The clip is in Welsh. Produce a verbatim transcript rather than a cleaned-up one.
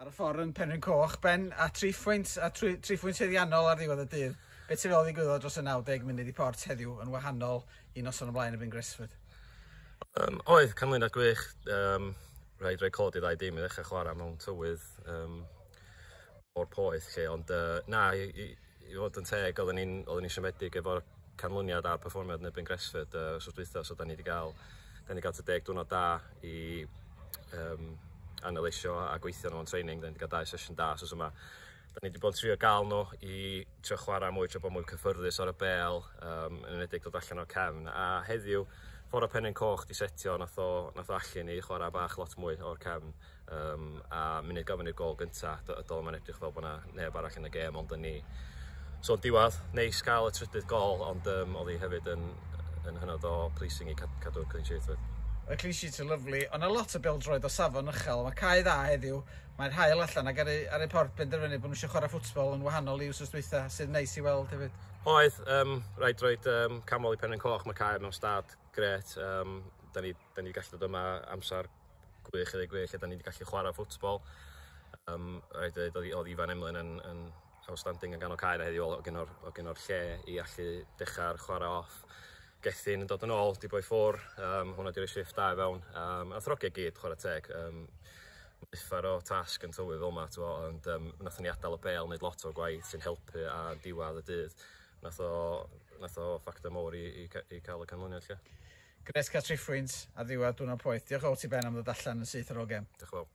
Ar y ffordd yn Penrhyn Coch, Ben, a tri phwynt, a tri, tri phwynt haeddiannol ar ddiwedd y dydd. Be ti'n feddwl ddigwyddodd dros y naw deg munud i Port heddiw yn wahanol i noson o blaen erbyn Gresford? Um, oedd, canlyniad gwych. Um, rhaid rhoi clod i ddau dîm i ddechrau chwarae mewn tywydd um, o'r poeth lle, ond uh, na, i, i, i fod yn teg, oedden ni'n oedden ni siomedig efo'r canlyniad a'r perfformiad yn erbyn Gresford uh, wsos dwytha, so da ni wedi gael, da ni wedi cael tua deg diwrnod da i um, analeisio a gweithio nhw yn training. Da ni wedi cael dau sesiwn da wsos yma. Da ni wedi bod yn trio gael nhw i trio chwarae mwy, trio bod mwy cyffyrddus ar y bel, um, yn enwedig dod allan o'r cefn. A heddiw, ffordd o Penrhyn Coch di setio, nath o, nath o allu ni chwarae bach lot mwy o'r cefn. Um, a munud gofyn i'r gol gynta, dol mae'n edrych fel bod yna neb arall yn y gêm ond yn ni. So diwedd, neis gael y trydydd gol, ond um, oedd hi hefyd yn, yn hynod o pleasing i cadw'r clean sheet fyd. Y clean sheet yn lyfli, ond a lot o bêl-droed o safon uchel. Mae cae dda heddiw, mae'r haul allan ac ar ei, ar ei Port benderfynu bod nhw eisiau chwarae ffwtbol yn wahanol i wsos dwytha, sydd neis i weld hefyd. Oedd, um, rhaid roed um, canmol i Penrhyn Coch, mae cae mewn stad gret. Um, da ni, da ni gallu dod yma amser gwych i ddweud gwir, lle da ni wedi gallu chwarae ffwtbol. Um, rhaid dweud, oedd, oedd Ifan Emlyn yn, yn outstanding yn ganol cae na heddiw, o gyno'r, o gyno'r lle i allu dechrau'r chwarae off. Gethin yn dod yn ôl, di boi ffwr, um, hwnna di roi shift da i fewn. Um, a throgia gyd, chwarae teg. Um, uffar o tasg yn tywydd fel yma, ond um, nathon ni adael y bel, wneud lot o gwaith sy'n helpu a diwedd y dydd. Nath o, nath o ffactor mowr i, i, i cael y canlyniad lle. Gres cael tri phwynt a ddiwedd diwrnod poeth. Diolch o ti, Ben, am ddod allan yn syth ar ôl gem. Diolch yn fawr.